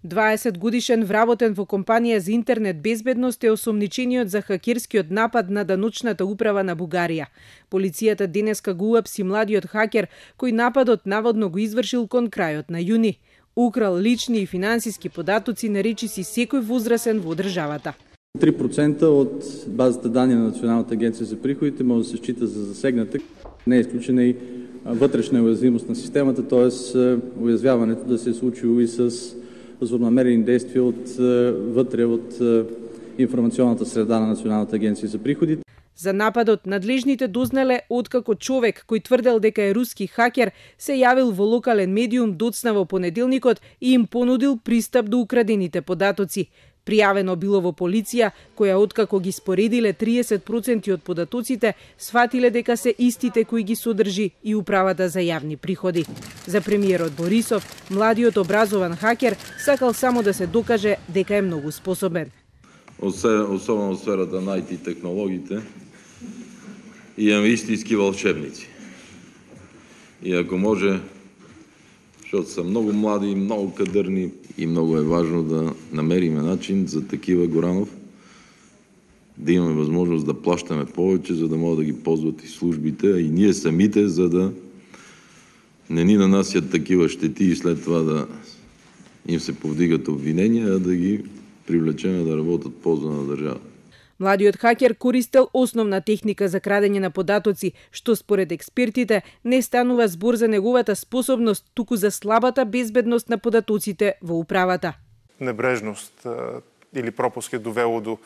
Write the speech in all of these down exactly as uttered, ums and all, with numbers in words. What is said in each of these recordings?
дваесет годишен вработен во компанија за интернет безбедност е осомничениот за хакерскиот напад на даночната управа на Бугарија. Полицијата денеска го уапси младиот хакер кој нападот наводно го извршил кон крајот на јуни. Украл лични и финансиски податоци на речиси секој возрасен во државата. три процента од базата данни на Националната агенција за приходите може да се счита за засегната. Не е исклучена и вътрешна уязвимост на системата, т.е. уязвяването да се е случило и с злонамерени действия от вътре от информационната среда на Националната агенција за приходите. За нападот надлежните дознале откако човек кој тврдел дека е руски хакер се јавил во локален медиум доцна во понеделникот и им понудил пристап до украдените податоци. Пријавено било во полиција, која откако ги споредиле триесет проценти од податоците, сватиле дека се истите кои ги содржи и управата за јавни приходи. За премиерот Борисов, младиот образован хакер сакал само да се докаже дека е многу способен. Особено в сферата на ай ти технологиите, имаме истински вълшебници. И ако може, защото са много млади, много кадърни и много е важно да намериме начин за такива, Горанов, да имаме възможност да плащаме повече, за да могат да ги ползват и службите, а и ние самите, за да не ни нанасят такива щети и след това да им се повдигат обвинения, а да ги привлечеме да работат полза на држава. Младиот хакер користел основна техника за крадење на податоци, што според експертите не станува збор за неговата способност, туку за слабата безбедност на податоците во управата. Небрежност или пропуск е довело до,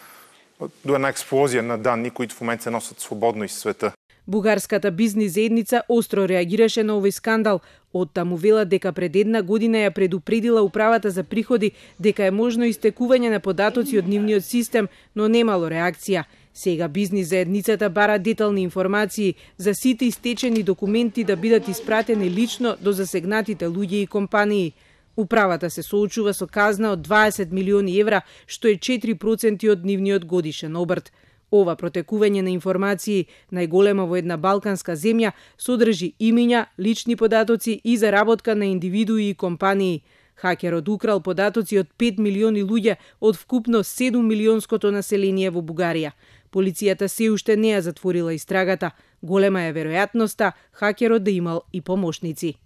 до една експлозија на данни, които в момент се носат свободно из света. Бугарската бизнис заедница остро реагираше на овој скандал. Оттаму вела дека пред една година ја предупредила управата за приходи дека е можно истекување на податоци од нивниот систем, но немало реакција. Сега бизнис заедницата бара детални информации за сите истечени документи да бидат испратени лично до засегнатите луѓе и компании. Управата се соочува со казна од дваесет милиони евра, што е четири проценти од нивниот годишен обрт. Ова протекување на информации, најголема во една балканска земја, содржи имиња, лични податоци и заработка на индивидуи и компании. Хакерот украл податоци од пет милиони луѓе од вкупно седум милионското население во Бугарија. Полицијата се уште не ја затворила истрагата. Голема е веројатноста хакерот да имал и помошници.